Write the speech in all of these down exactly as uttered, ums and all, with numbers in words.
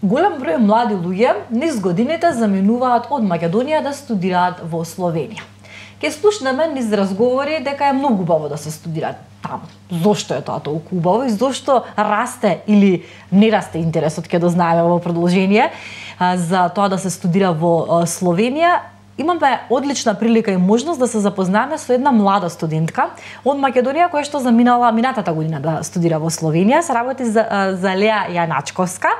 Голем број млади луѓе низ годините заминуваат од Македонија да студираат во Словенија. Ке слушнеме низ разговори дека е многу убаво да се студира таму. Зошто е тоа толку убаво и зошто расте или не расте интересот, ке дознаеме во продолжение за тоа да се студира во Словенија. Имаме одлична прилика и можност да се запознаеме со една млада студентка од Македонија која што заминала минатата година да студира во Словенија. Се работи за, за Леа Јаначковска,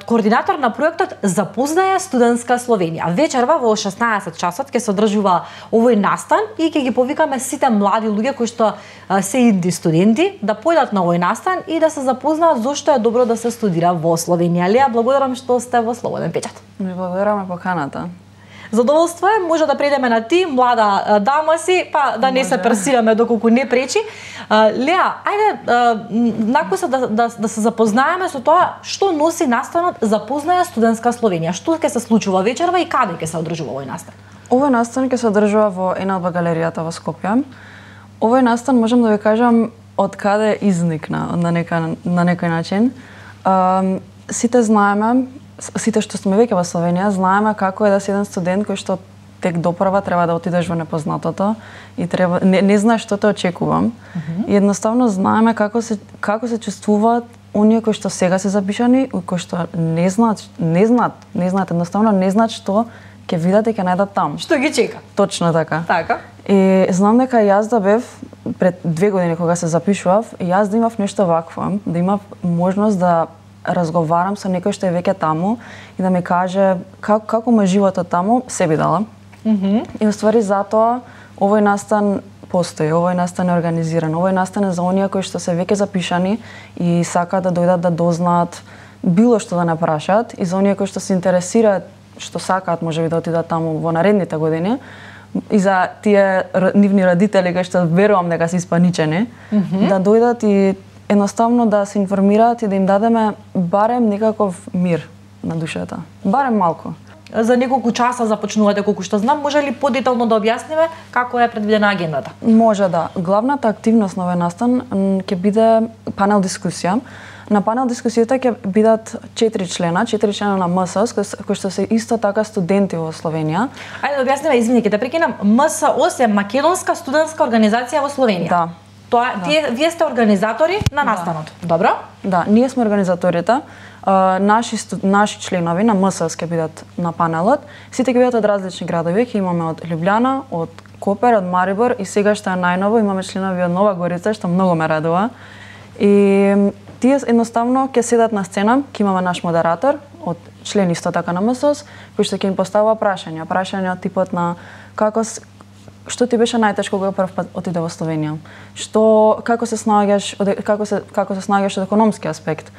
координатор на проектот Запознаја студентска Словенија. Вечерва во шеснаесет часот ќе се одржува овој настан и ќе ги повикаме сите млади луѓе кои што се инди студенти да појдат на овој настан и да се запознаат зошто е добро да се студира во Словенија. Леа, благодарам што сте во Слободен печат. Ми благодараме поканата. Задоволство е, може да предеме на ти, млада дама си, па да не може се персираме доколку не пречи. Леа, ајде накуса да, да, да се запознаеме со тоа што носи настанот Запознаја студентска Словенија. Што ќе се случува вечерва и каде ќе се одржува овој настан? Овој настан ќе се одржува во ЕНАЛБА галеријата во Скопје. Овој настан можам да ви кажам од каде изникна на нека на некој начин. Uh, сите знаеме, сите што сме веќе во Словенија, знаеме како е да си еден студент кој што тек допрва треба да отидеш во непознатото и треба не, не знаеш што те очекувам. Mm-hmm. И едноставно знаеме како се како се чувствуваат оние кои што сега се запишани, кои што не знаат, не знаат, не знаат едноставно не знаат што ќе видат и ќе најдат таму. Што ги чека? Точно така. Така. И знам дека јас да бев пред две години кога се запишував, јас да имав нешто вакво, да имав можност да разговарам со некој што е веќе таму и да ми каже како како ме животот таму, се би дала. Mm-hmm. И уствари затоа овој настан постои, овој настан е организиран, овој настан е за оние кои што се веќе запишани и сакаат да дојдат да дознаат било што да не прашаат и за оние кои што се интересираат, што сакаат можеби да отидат таму во наредните години. И за тие нивни родители кои што верувам дека се испаничени, mm-hmm. да дојдат и едноставно да се информираат и да им дадеме барем некаков мир на душата. Барем малку. За неколку часа започнувате, колку што знам, може ли подетално да објасниме како е предвидена агендата? Може да. Главната активност на овој настан ќе биде панел дискусија. На панел дискусијата ќе бидат четири члена, четири члена на МСОС, кои што се исто така студенти во Словенија. Ајде да објасниме, извини, ќе те прекинам. МСОС е Македонска студентска организација во Словенија. Да. Тоа да. Тие вие сте организатори на настанот. Да. Добро? Да, ние сме организаторите. Uh, наши студ... наши членови на МСОС ќе бидат на панелот. Сите ќе бидат од различни градови, ќе имаме од Лјубљана, од Копер, од Марибор и сега што е најново имаме членови од Нова Горица, што многу ме радува. И тие едноставно ќе седат на сцена, ќе имаме наш модератор од член исто така на МСОС, кој што ќе им поставува прашања, прашања од типот на како што ти беше најтешко кога прв пат отиде во Словенија? Што како се снаѓаш од како се како се снаѓаш од економски аспект?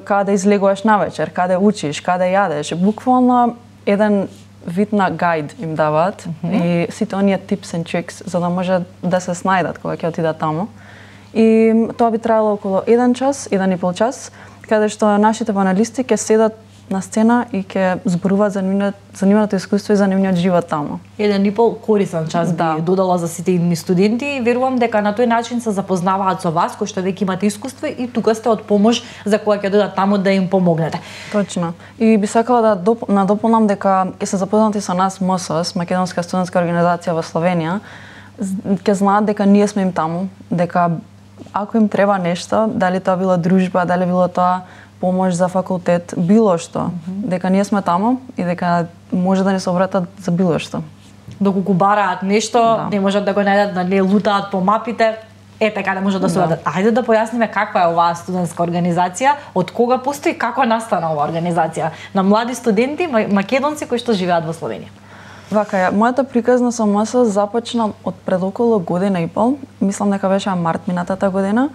Каде излегуваш навечер, каде учиш, каде јадеш? Буквално еден вид на гајд им даваат mm-hmm. и сите оние tips and tricks за да може да се снајдат кога ќе отидат таму. И тоа би траело околу еден час, еден и пол час, каде што нашите панелисти ќе седат на сцена и ќе зборуваат за нивното за нивното искуство и за нивниот живот таму. Еден и пол корисен час да. би додала за сите идни студенти. Верувам дека на тој начин се запознаваат со вас, кои што веќе имате искуство и тука сте од помош за кога ќе дојдат таму да им помогнете. Точно. И би сакала да доп... надополнам дека ќе се запознати со нас МСОС, Македонска студентска организација во Словенија, ќе знаат дека ние сме им таму, дека ако им треба нешто, дали тоа било дружба, дали било тоа помош за факултет, било што, mm-hmm. дека ние сме таму и дека може да ни се обратат за било што. Доколку бараат нешто, да. Не можат да го најдат, да не лутаат по мапите, е така да може да се обратат. Да. Ајде да појасниме каква е оваа студентска организација, од кога постои, како настана оваа организација на млади студенти македонци кои што живеат во Словенија. Вака е, мојата приказна со МСОС започна од пред околу година и пол, мислам дека беше март минатата година.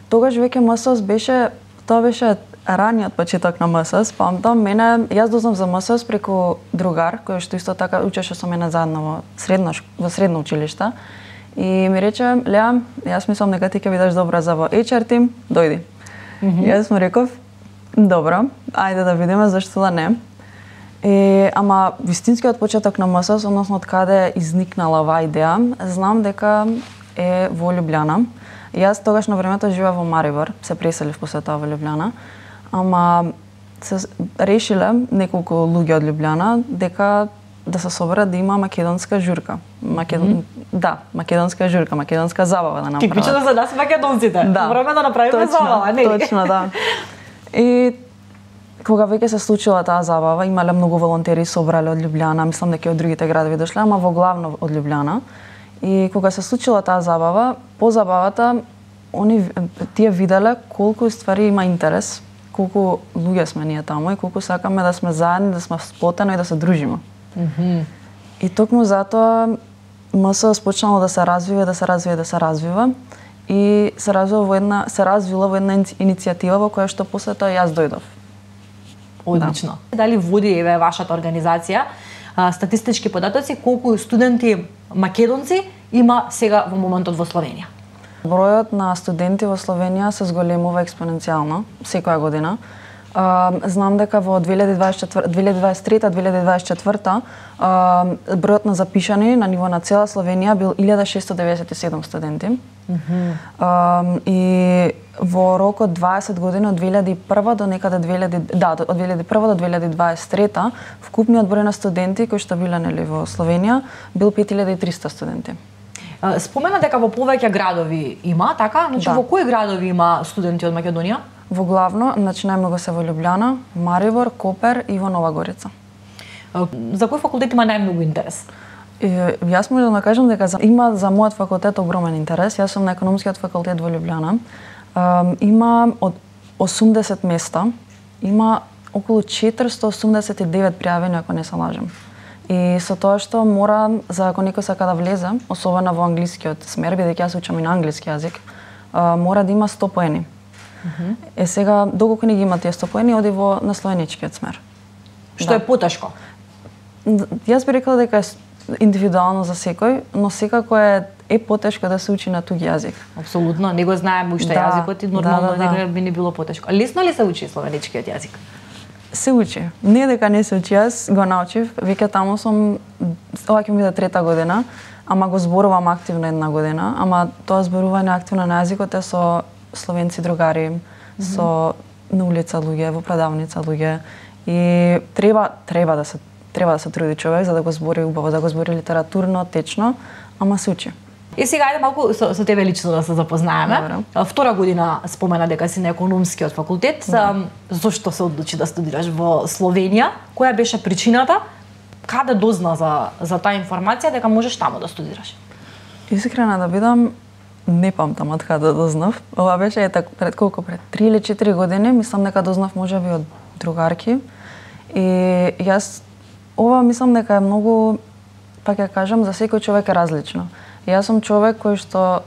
Тогаш веќе МСОС беше, тоа беше раниот почеток на МСОС, памтам, мене, јас дознав за МСОС преку другар, кој што исто така учеше со мене заедно во средно, во средно училиште. И ми рече, Леа, јас мислам дека ти ќе бидеш добра за во еич ар тим, дојди. Mm-hmm. Јас му реков, добро, ајде да видиме зашто да не. И, ама вистинскиот почеток на МСОС, односно од каде изникнала оваа идеја, знам дека е во Лјубљана. Јас тогаш на времето живеев во Марибор, се преселив после тоа во Лјубљана. Ама се решиле неколку луѓе од Лјубљана дека да се соберат да има македонска журка. Македон... Mm -hmm. Да, македонска журка, македонска забава да направат. Типично за нас македонците. Да. Мораме да направиме точно, забава, не? Точно, да. И кога веќе се случила таа забава, имале многу волонтери собрале од Лјубљана, мислам дека и од другите градови дошле, ама во главно од Лјубљана. И кога се случила таа забава, по забавата они тие виделе колку ствари има интерес, колку луѓе сме ние таму и колку сакаме да сме заедни, да сме сплотено и да се дружиме. Mm -hmm. И токму затоа МС спочнало да се развива, да се развива, да се развива и се развива во една се развила во една иницијатива во која што после тоа јас дојдов. Одлично. Да. Дали води еве вашата организација а, статистички податоци колку студенти македонци има сега во моментот во Словенија? Бројот на студенти во Словенија се зголемува експоненцијално секоја година. Uh, знам дека во две илјади дваесет и трета - две илјади дваесет и четврта uh, бројот на запишани на ниво на цела Словенија бил илјада шестоста деведесет и седум студенти. Mm -hmm. uh, и во рок од дваесет години од две илјади и прва до некаде две илјади да од две илјади и прва до две илјади дваесет и трета вкупниот број на студенти кои што биле нели во Словенија бил пет илјади и триста студенти. Спомена дека во повеќе градови има, така? Значи да. Во кои градови има студенти од Македонија? Во главно, значи најмногу се во Лјубљана, Марибор, Копер и во Нова Горица. За кој факултет има најмногу интерес? И, јас можам да кажам дека за, има за мојот факултет огромен интерес. Јас сум на економскиот факултет во Лјубљана. Um, има од осумдесет места, има околу четиристо осумдесет и девет пријавени, ако не се лажам. И со тоа што мора, за ако некој сака да влезе, особено во англискиот смер, бидејќи јас учам и на англиски јазик, uh, мора да има сто поени. Mm -hmm. Е сега, доколку не ги има тие сто поени, оди во на словеничкиот смер. Што да. Е потешко? Јас би рекла дека е индивидуално за секој, но секако е е потешко да се учи на туѓ јазик. Апсолутно, не го знаеме уште да, јазикот и нормално да, да, дека да. би не било потешко. Лесно ли се учи словеничкиот јазик? Се учи. Не дека не се учи, јас го научив, веќе таму сум, ова ќе ми биде трета година, ама го зборувам активно една година, ама тоа зборување активно на јазикот е со словенци другари, mm -hmm. со на улица луѓе, во продавница луѓе и треба треба да се треба да се труди човек за да го збори убаво, да го збори литературно, течно, ама се учи. И сега ајде малку со, со тебе лично да се запознаеме. Добре. Втора година спомена дека си на економскиот факултет. Да. Зошто се одлучи да студираш во Словенија? Која беше причината? Каде дозна за за таа информација дека можеш таму да студираш? Искрена да бидам, не памтам од каде дознав. Ова беше е така пред колку пред три или четири години, мислам дека дознав можеби од другарки. И јас ова мислам дека е многу, пак ја кажам, за секој човек е различно. Јас сум човек кој што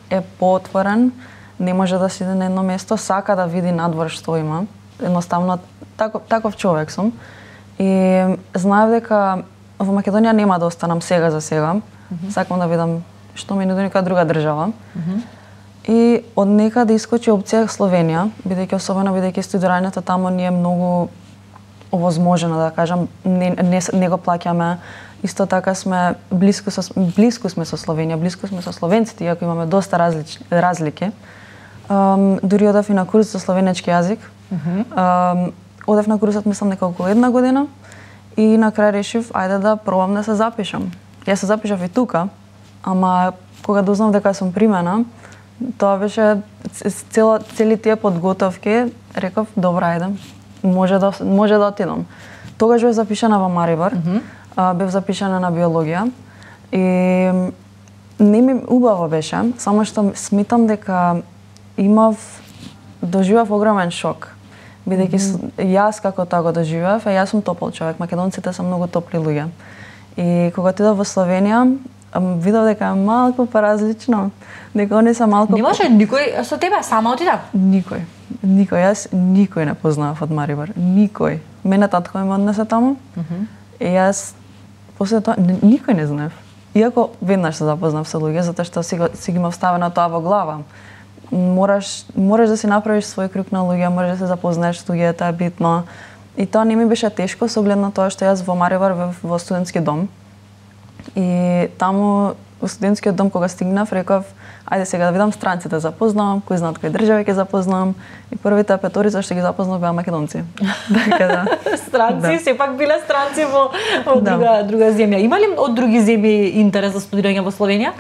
е поотворен, не може да сиде на едно место, сака да види надвор што има. Едноставно таков, таков човек сум. И знаев дека во Македонија нема да останам сега за сега. Mm -hmm. Сакам да видам што ми нуди некоја друга држава. Mm -hmm. И од некаде искочи опција Словенија, бидејќи особено бидејќи студирањето таму ни е многу овозможено, да кажам, не, не, не го плаќаме. Исто така сме блиску со блиску сме со Словенија, блиску сме со словенците, иако имаме доста различни разлики. Um, дури одев и на курс за словенечки јазик. Mm -hmm. um, одев на курсот мислам дека околу една година и на крај решив ајде да пробам да се запишам. Јас се запишав и тука, ама кога дознав дека сум примена, тоа беше цело цели тие подготовки, реков добра ајде, може да може да отидам. Тогаш бев запишана во Марибор. Mm -hmm. Uh, бев запишана на биологија и не ми убаво беше, само што смитам дека имав доживав огромен шок. Бидејќи mm -hmm. јас како тоа го доживав, јас сум топол човек, македонците се многу топли луѓе. И кога отидов во Словенија, видов дека е малку поразлично, дека они се малку. Немаше никој со тебе, сама отида? Никој. Никој, јас никој не познавав од Марибор, никој. Мене татко ме однесе таму. Mm -hmm. И јас после тоа никој не знаев. Иако веднаш се запознав со луѓе, затоа што си, си ги имав ставено тоа во глава. Мораш мораш да си направиш свој круг на луѓе, мораш да се запознаеш со луѓе, тоа е битно. И тоа не ми беше тешко со оглед на тоа што јас во Марибор во, во студентски дом. И таму во студентскиот дом кога стигнав, реков, ајде сега да видам странците запознавам, кои знаат кои држави ќе запознавам и првите петорица што ги запознав беа македонци. Така да. Странци, да. сепак биле странци во, во Да. друга друга земја. Има ли од други земји интерес за студирање во Словенија?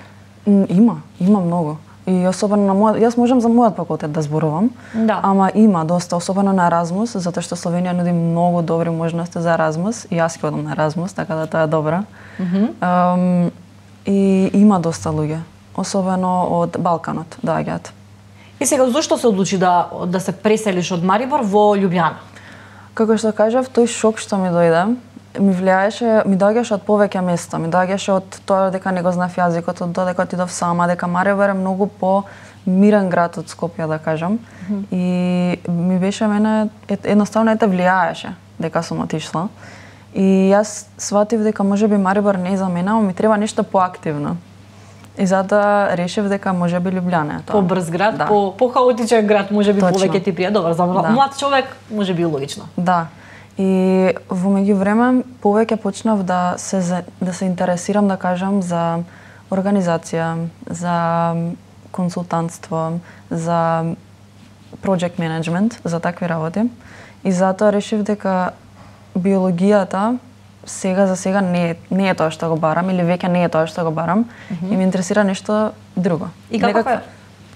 М, Има, има многу. И особено на мојот, јас можам за мојот факултет да зборувам, Да. ама има доста, особено на Еразмус, затоа што Словенија нуди многу добри можности за Еразмус, и јас ќе одам на Еразмус, така да тоа е добра. Мгм. Ам, и има доста луѓе, особено од Балканот доаѓаат. И сега зошто се одлучи да да се преселиш од Марибор во Љубљана? Како што кажав, тој шок што ми дојде, ми влијаеше, ми доаѓаше од повеќе места, ми доаѓаше од тоа дека не го знав јазикот, од тоа дека отидов сама, дека Марибор е многу по мирен град од Скопје, да кажам. Mm -hmm. И ми беше мене едноставно ете влијаеше дека сум отишла. И јас сватив дека можеби Марибор не е за мене, ама ми треба нешто поактивно. И затоа решив дека можеби Љубљана е тоа. Побрз град, да. по по хаотичен град, можеби Точно. повеќе ти прија. Добар, за Да. млад човек можеби логично. Да. И во меѓувреме повеќе почнав да се за- да се интересирам, да кажам, за организација, за консултантство, за project management, за такви работи. И затоа решив дека биологијата сега за сега не е, не е тоа што го барам или веќе не е тоа што го барам, mm -hmm. и ме интересира нешто друго. И каков Некаква- е?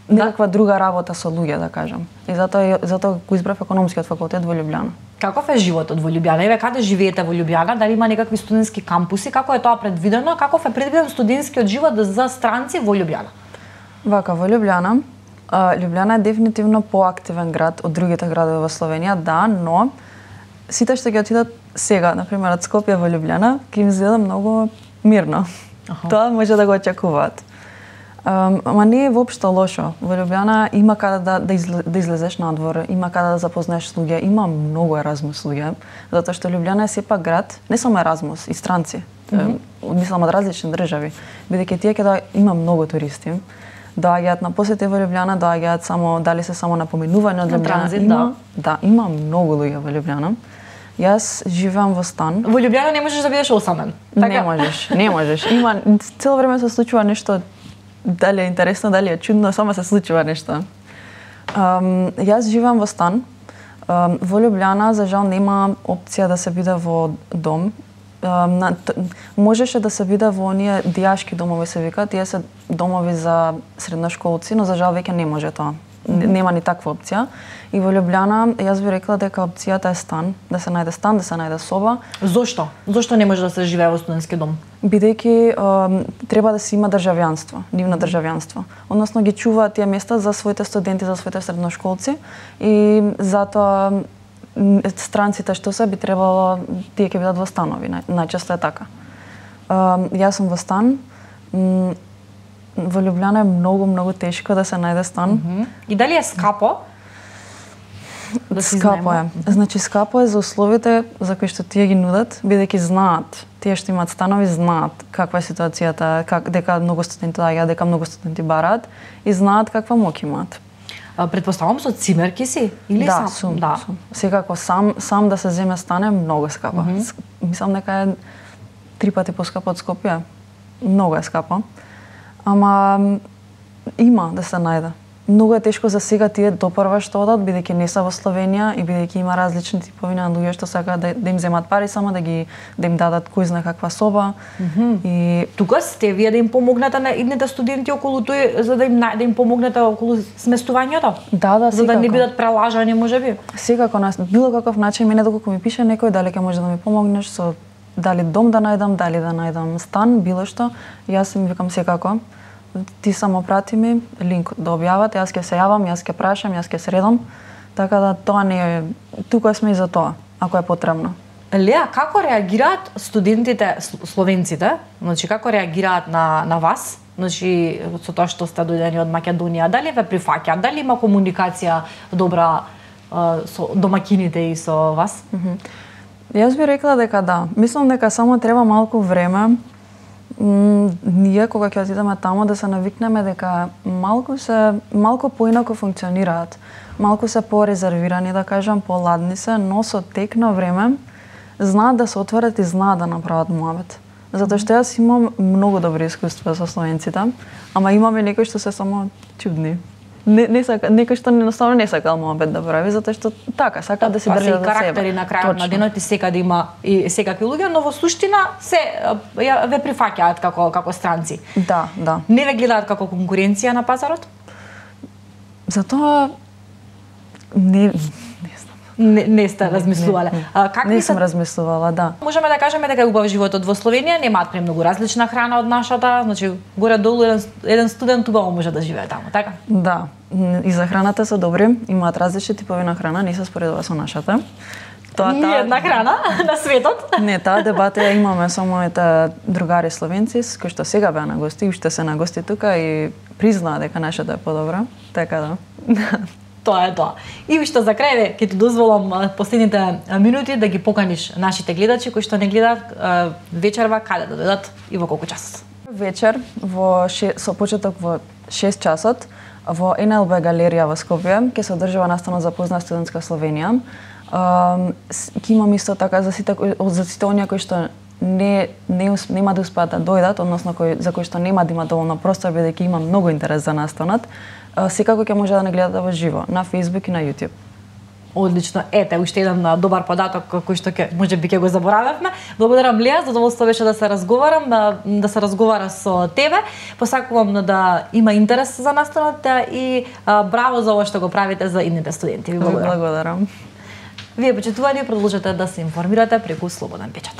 Некаква друга работа со луѓе, да кажам. И затоа затоа го избрав економскиот факултет во Љубљана. Каков е животот во Љубљана? Еве каде живеете во Љубљана? Дали има некакви студентски кампуси? Како е тоа предвидено? Каков е предвиден студентскиот живот за странци во Љубљана? Вака, во Љубљана, а, Љубљана е дефинитивно поактивен град од другите градови во Словенија, да, но сите што ќе отидат сега, например, од Скопје во Љубљана, ќе им изгледа многу мирно. Аха. Тоа може да го очекуваат. Um, ама не е воопшто лошо. Во Љубљана има каде да, да, изле, да излезеш надвор, има каде да запознаеш луѓе, има многу Еразмус луѓе, затоа што Љубљана е сепак град, не само Еразмус, и странци, mm -hmm. мислам од различни држави, бидејќи тие ќе да има многу туристи. Доаѓаат на посети во Љубљана, доаѓаат само дали се само на поминување од На Љубљана. транзит, има, да, има многу луѓе во Љубљана. Јас живеам во стан. Во Љубљана не можеш да бидеш осамен. Не можеш, не можеш. Има цело време се случува нешто, дали е интересно, дали е чудно, само се случува нешто. Um, јас живеам во стан. Um, во Љубљана, за жал, нема опција да се биде во дом. Um, на, т, можеше да се биде во оние дијашки домови се викаат, тие се домови за средношколци, но за жал веќе не може тоа. Mm-hmm. Нема ни таква опција. И во Љубљана јас би рекла дека опцијата е стан, да се најде стан, да се најде соба. Зошто? Зошто не може да се живее во студентски дом? Бидејќи е, треба да се има државјанство, нивно државјанство. Односно ги чуваат тие места за своите студенти, за своите средношколци и затоа м, странците што се би требало тие ќе бидат во станови, нај, најчесто е така. Е, јас сум во стан. М, во Љубљана е многу многу тешко да се најде стан. Mm -hmm. И дали е скапо? Да скапо е. Значи скапо е за условите за кои што тие ги нудат, бидејќи знаат, тие што имаат станови знаат каква е ситуацијата, как дека многу студенти доаѓаат, дека многу студенти бараат и знаат каква моќ имаат. А, предпоставам со цимерки си или да, сам? Сум, да, сум. Секако сам сам да се земе стан е многу скапо. Mm -hmm. Мислам дека е три пати поскапо од Скопје. Многу е скапо. Ама има да се најде. Многу е тешко за сега тие допрва што одат, бидејќи не се во Словенија и бидејќи има различни типови на луѓе што сакаат да, да им земат пари само да ги да им дадат кој знае каква соба. Mm -hmm. И тука сте вие да им помогнете на идните студенти околу тој за да им да им помогнете околу сместувањето? Да, да, за да не секако. бидат прелажани можеби. Секако на било каков начин мене доколку ми пише некој дали ќе може да ми помогнеш со дали дом да најдам, дали да најдам стан, било што, јас им викам секако. Ти само прати ми линк да објават, јас ќе се јавам, јас ќе прашам, јас ќе средам. Така да тоа не е, тука сме и за тоа, ако е потребно. Леа, како реагираат студентите, словенците, значи како реагираат на на вас? Значи со тоа што сте дојдени од Македонија, дали ве прифаќаат, дали има комуникација добра uh, со домакините и со вас? Mm -hmm. Јас би рекла дека да. Мислам дека само треба малку време. М, ние кога ќе отидеме таму да се навикнеме дека малку се малку поинаку функционираат. Малку се порезервирани, да кажам, поладни се, но со тек на време знаат да се отворат и знаат да направат муабет. Затоа што јас имам многу добри искуства со словенците, ама имаме некои што се само чудни. Не, не сака, некој што едноставно не сака муабет да прави, затоа што така, сака да се па држат за себе. Па се и карактери на крајот на денот и секаде има и секакви луѓе, но во суштина се ја ве прифаќаат како како странци. Да, да. Не ве гледаат како конкуренција на пазарот? Затоа не Не, не сте размислувале. Не, не. А, как не ви сум се... размислувала, да. Можеме да кажеме дека е убав животот во Словенија, немаат премногу различна храна од нашата, значи горе-долу еден, еден студент убаво може да живее таму, така? Да, и за храната се добри, имаат различни типови на храна, не се споредува со нашата. Тоа и таа... една храна на светот. Не, таа дебата ја имаме со моите другари словенци, кои што сега беа на гости, уште се на гости тука и признаа дека нашата е подобра, така да. Тоа е тоа. И уште за крај ќе ти дозволам последните минути да ги поканиш нашите гледачи кои што не гледаат вечерва каде да дојдат и во колку часот. Вечер во ше... со почеток во шест часот во Ен Ел Би галерија во Скопје ќе се одржува настана за позна студентска Словенија. Ќе имам исто така за сите за сите оние кои што не не нема да успеат да дојдат, односно кои за кои што нема да има доволно простор бидејќи има многу интерес за настанот. Секако ќе може да не гледате во живо на Facebook и на YouTube. Одлично. Ете, уште еден добар податок кој што ќе можеби ќе го заборавевме. Благодарам Леа, задоволство беше да се разговарам, да, да се разговара со тебе. Посакувам да има интерес за настанот и а, браво за ова што го правите за идните студенти. Ви благодарам. Благодарам. Вие почитувани продолжете да се информирате преку Слободен печат.